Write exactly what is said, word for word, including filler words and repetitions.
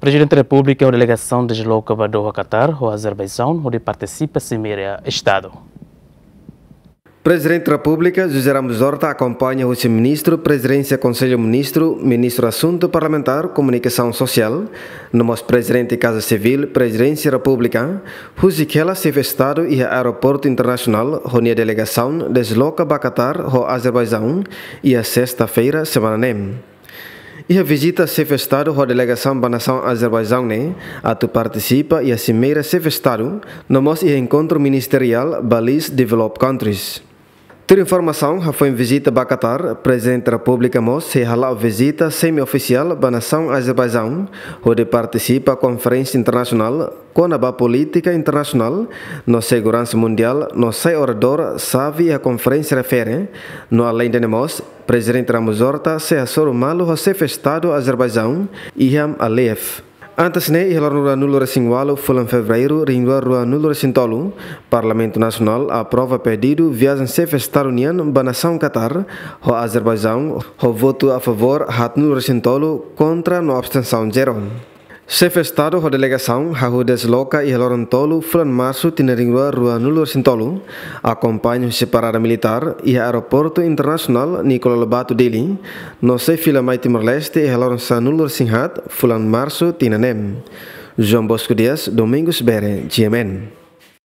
Prezidente Repúblika ho delegasaun dezloka ba Doha, Qatar, ho Azerbaijaun, hodi partisipa simeira Estadu. Prezidente Repúblika José Ramos Horta akompaña husi Ministru Prezidénsia Konsellu Ministru, Ministru Asuntu Parlamentár, Komunikasaun Sosiál, no mós Prezidente Kaza Sivíl Prezidénsia Repúblika, husik hela Xefe Estadu iha Aeroportu Internasionál ho nia delegasaun dezloka ba Qatar ho Azerbaijaun iha sesta-feira semana ne'e. Iha vizita Xefe Estadu ho delegasaun ba nasaun Azerbaijaun ne'e atu partisipa iha simeira Xefe Estadu, no mós iha enkontru ministeriál ba list developed countries. Tuir informasaun hafoin vizita ba Qatar, Prezidente Repúblika mós sei hala'o vizita semi-ofisiál ba nasaun Azerbaijaun, hodi partisipa konferénsia internasionál kona-ba polítika internasionál no seguransa mundiál, no sai oradór xave iha konferénsia refere, no aleinde ne'e mós, Prezidente Ramos Horta sei hasoru malu ho Xefe Estadu Azerbaijaun, Ilham Aliyev. Antes ne'e, iha loron ruanulu-resin-ualu fulan Fevereiru, rihun rua ruanulu-resin-tolu, Parlamentu Nasionál aprova pedidu viajen Xefe Estadu nian ba nasaun Qatar ho Azerbaijaun, ho votu a favór haatnulu-resin-tolu, kontra no abstensaun zero. Xefe Estadu ho delegasaun hahú dezloka iha loron tolu fulan Marsu tinan rihun rua ruanulu-resin-tolu, akompaña husi parada militár iha Aeroportu Internasionál Nicolau Lobato Dili, no sei fila mai Timor-Leste iha loron sanulu-resin-haat fulan Marsu tinan ne'e. João Bosco Dias, Domingos Bere, G M N.